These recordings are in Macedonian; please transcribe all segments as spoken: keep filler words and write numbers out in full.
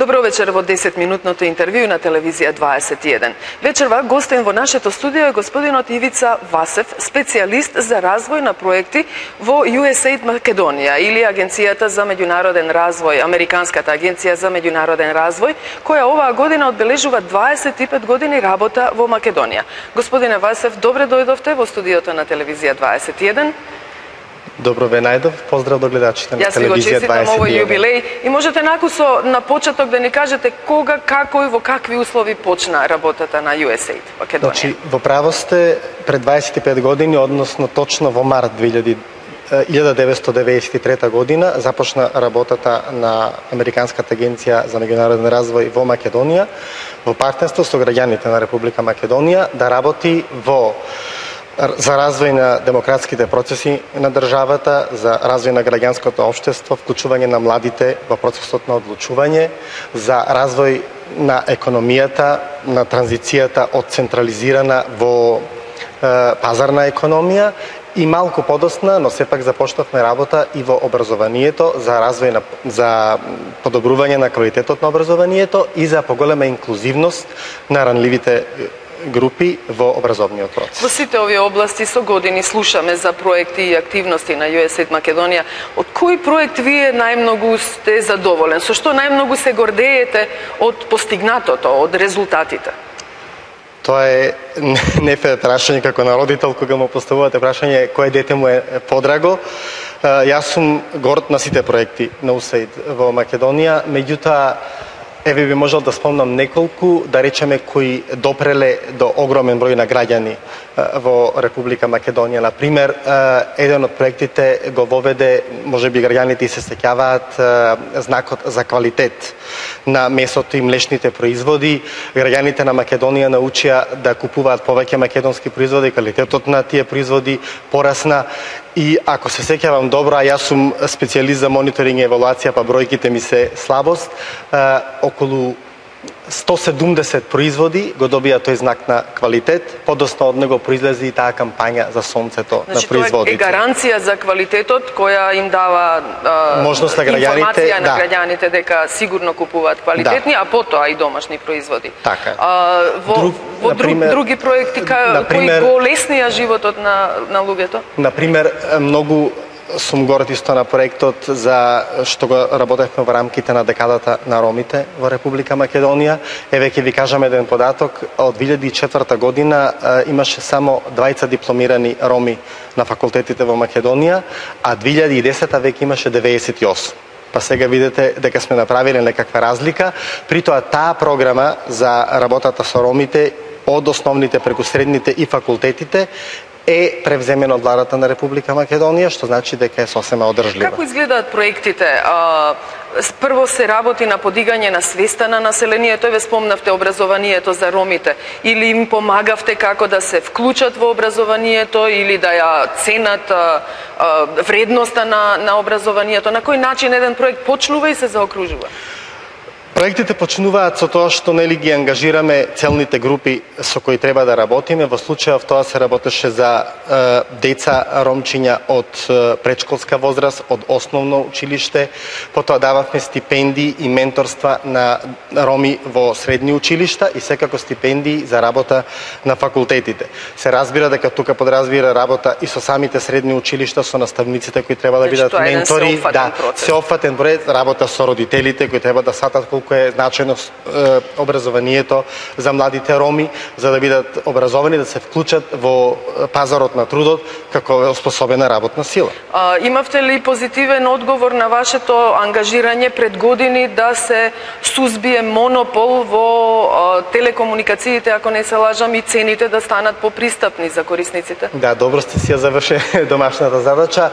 Добро вечер во десетминутното интервју на телевизија дваесет и еден. Вечерва гостен во нашето студио е господинот Ивица Васев, специјалист за развој на проекти во ю ес ей ай ди Македонија или Агенцијата за меѓународен развој, Американската агенција за меѓународен развој, која оваа година одбележува дваесет и пет години работа во Македонија. Господине Васев, добре дојдовте во студиото на телевизија дваесет и еден. Добро ве најдов, поздрав до гледачите на телевизија дваесет и еден. Јас ви го честитам овој јубилеј и можете накусо на почеток да ни кажете кога, како и во какви услови почна работата на ю ес ей ай ди Македонија. Значи, во право сте, пред дваесет и пет години, односно точно во март илјада деветстотини деветдесет и трета година започна работата на Американската агенција за меѓународен развој во Македонија во партнерство со граѓаните на Република Македонија да работи во за развој на демократските процеси на државата, за развој на граѓанското општество, вклучување на младите во процесот на одлучување, за развој на економијата, на транзицијата од централизирана во е, пазарна економија и малку подосна, но сепак започнавме работа и во образованието за развој на за подобрување на квалитетот на образованието и за поголема инклузивност на ранливите групи во образовниот процес. Во сите овие области со години слушаме за проекти и активности на ю ес ей ай ди Македонија. Од кој проект вие најмногу сте задоволен? Со што најмногу се гордеете од постигнатото, од резултатите? Тоа е нефе прашање како на родител кога му поставувате прашање кој дете му е подраго. Јас сум горд на сите проекти на ю ес ей ай ди во Македонија, меѓутоа еве би можел да спомнам неколку, да речеме, кои допреле до огромен број на граѓани во Република Македонија. Например, еден од проектите го воведе, може би граѓаните и се сеќаваат, знакот за квалитет на месото и млечните производи. Граѓаните на Македонија научија да купуваат повеќе македонски производи, квалитетот на тие производи порасна. И ако се сеќавам добро, а јас сум специјалист за мониторинг и евалуација, па бројките ми се слабост, околу сто седумдесет производи го добија тој знак на квалитет, подоцна од него произлезе и таа кампања за сонцето, значи, на производите. Тоа е гаранција за квалитетот која им дава а, можност на граѓаните, информација да. на граѓаните дека сигурно купуваат квалитетни, да. А потоа и домашни производи. Така. А, во Друг, во например, други проекти ка, например, кои го леснија животот на на луѓето? Например, многу сум горд исто на проектот за што го работевме во рамките на декадата на ромите во Република Македонија. Еве ќе ви кажам еден податок. Од две илјади и четврта година имаше само двајца дипломирани роми на факултетите во Македонија, а две илјади и десета веќе имаше деветдесет и осум. Па сега видите дека сме направиле некаква разлика. При тоа таа програма за работата со ромите од основните преку средните и факултетите е превземено од владата на Република Македонија, што значи дека е сосема одржлива. Како изгледаат проектите? А, прво се работи на подигање на свеста на населението, ве спомнавте образованието за ромите, или им помагавте како да се вклучат во образованието или да ја ценат а, а, вредноста на, на образованието? На кој начин еден проект почнува и се заокружува? Проектите почнуваат со тоа што нели ги ангажираме целните групи со кои треба да работиме. Во случајов тоа се работеше за е, деца ромчиња од е, предшколска возраст, од основно училиште, потоа дававме стипендии и менторства на роми во средни училишта и секако стипендии за работа на факултетите. Се разбира дека тука подразбира работа и со самите средни училишта, со наставниците кои треба да бидат ментори, да, сеопфатен проект, работа со родителите кои треба да сатат колку е значено е, образованието за младите роми, за да бидат образовани, да се вклучат во пазарот на трудот како способена работна сила. А, имавте ли позитивен одговор на вашето ангажирање пред години да се сузбие монопол во а, телекомуникациите, ако не се лажам, и цените да станат попристапни за корисниците? Да, добро сте си ја заврши домашната задача.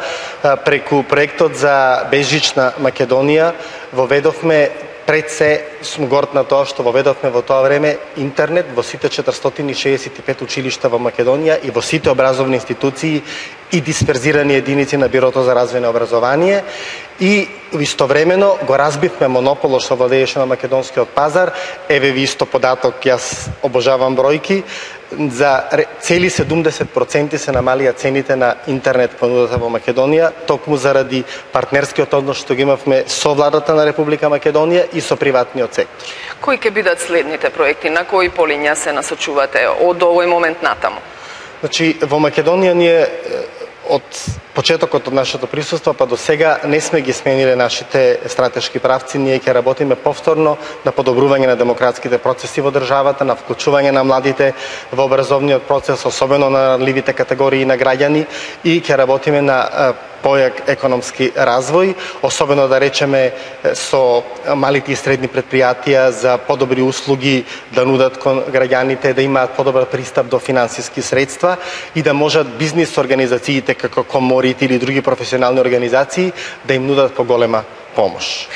Преку проектот за безжична Македонија воведовме, пред се сум горд на тоа што воведовме во тоа време интернет во сите четиристотини и шеесет и пет училишта во Македонија и во сите образовни институции и дисперзирани единици на Бирото за развој на образование, и истовремено го разбивме монополот што владееше на македонскиот пазар. Еве ви исто податок, јас обожавам бројки. за цели седумдесет проценти се намалија цените на интернет понудата во Македонија, токму заради партнерскиот однос што ги имавме со владата на Република Македонија и со приватниот сектор. Кои ќе бидат следните проекти? На кои полиња се насочувате од овој момент натаму? Значи, во Македонија ние од почетокот од нашето присуство па до сега не сме ги смениле нашите стратешки правци. Ние ќе работиме повторно на подобрување на демократските процеси во државата, на вклучување на младите во образовниот процес, особено на ранливите категории на граѓани, и ќе работиме на појак економски развој, особено да речеме со малите и средни предпријатија за подобри услуги да нудат кон граѓаните, да имаат подобар пристап до финансиски средства и да можат бизнис организациите како коморите или други професионални организации да им нудат поголема помош.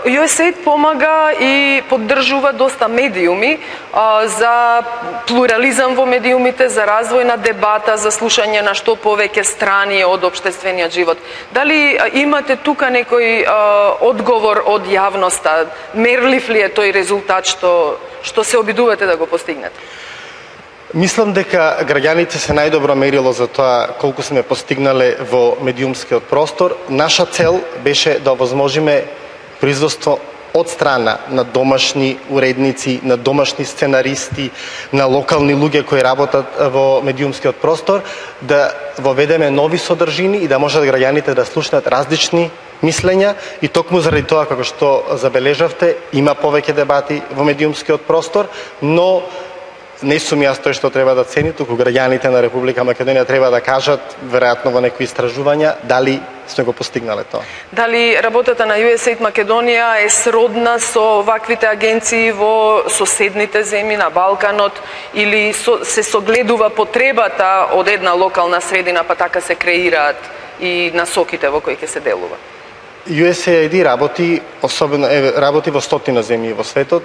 ю ес ей ай ди помага и поддржува доста медиуми а, за плурализам во медиумите, за развој на дебата, за слушање на што повеќе страни од општествениот живот. Дали а, имате тука некој а, одговор од јавноста? Мерлив ли е тој резултат што, што се обидувате да го постигнете? Мислам дека граѓаните се најдобро мерило за тоа колку сме постигнале во медиумскиот простор. Наша цел беше да овозможиме производство од страна на домашни уредници, на домашни сценаристи, на локални луѓе кои работат во медиумскиот простор, да воведеме нови содржини и да можат граѓаните да слушнат различни мислења, и токму заради тоа, како што забележавте, има повеќе дебати во медиумскиот простор, но не сум јас тој што треба да цени, туку граѓаните на Република Македонија треба да кажат, веројатно во некои истражувања, дали сме го постигнале тоа. Дали работата на ю ес ей ай ди Македонија е сродна со ваквите агенции во соседните земји на Балканот, или со, се согледува потребата од една локална средина, па така се креираат и насоките во кои ќе се делува? ю ес ей ай ди работи, особено е, работи во стотина земји во светот.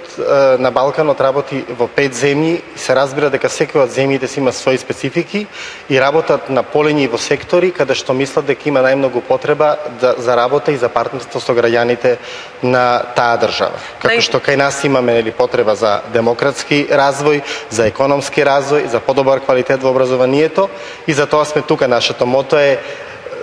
На Балканот работи во пет земји и се разбира дека секоја од земјите си има своји специфики и работат на полењи во сектори каде што мислат дека има најмногу потреба да, за работа и за партнерство со граѓаните на таа држава. Како Нај... што кај нас имаме нели потреба за демократски развој, за економски развој, за подобар квалитет во образованието, и за тоа сме тука. Нашето мото е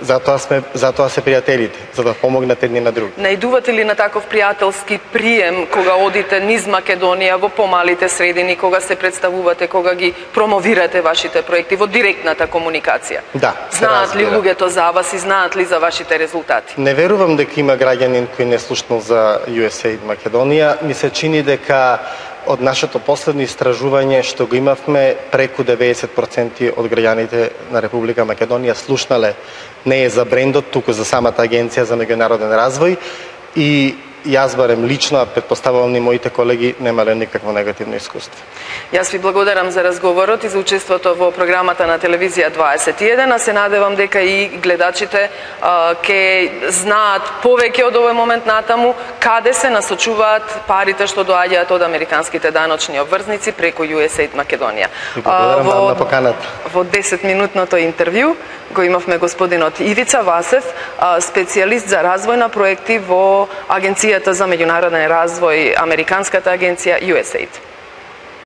Затоа сме, затоа се пријателите, за да помогнат едни на други. Најдувате ли на таков пријателски прием кога одите низ Македонија во помалите средини, кога се представувате, кога ги промовирате вашите проекти во директната комуникација? Да. Знаат ли луѓето за вас и знаат ли за вашите резултати? Не верувам дека има граѓанин кој не слушнал за ю ес ей ай ди Македонија. Ми се чини дека од нашето последно истражување што го имавме, преку деветдесет проценти од граѓаните на Република Македонија слушнале не е за брендот, туку за самата Агенција за меѓународен развој, и јас барем лично, а претпоставувам и моите колеги, немале никакво негативно искуство. Јас ви благодарам за разговорот и за учеството во програмата на телевизија дваесет и еден, а се надевам дека и гледачите а, ке знаат повеќе од овој момент натаму каде се насочуваат парите што доаѓаат од американските даночни обврзници преку ю ес ей ай ди Македонија. И благодарам вам на поканата. Во десетминутното интервју го имавме господинот Ивица Васев, специјалист за развој на проекти во Агенцијата за меѓународен развој, американската агенција ю ес ей ай ди.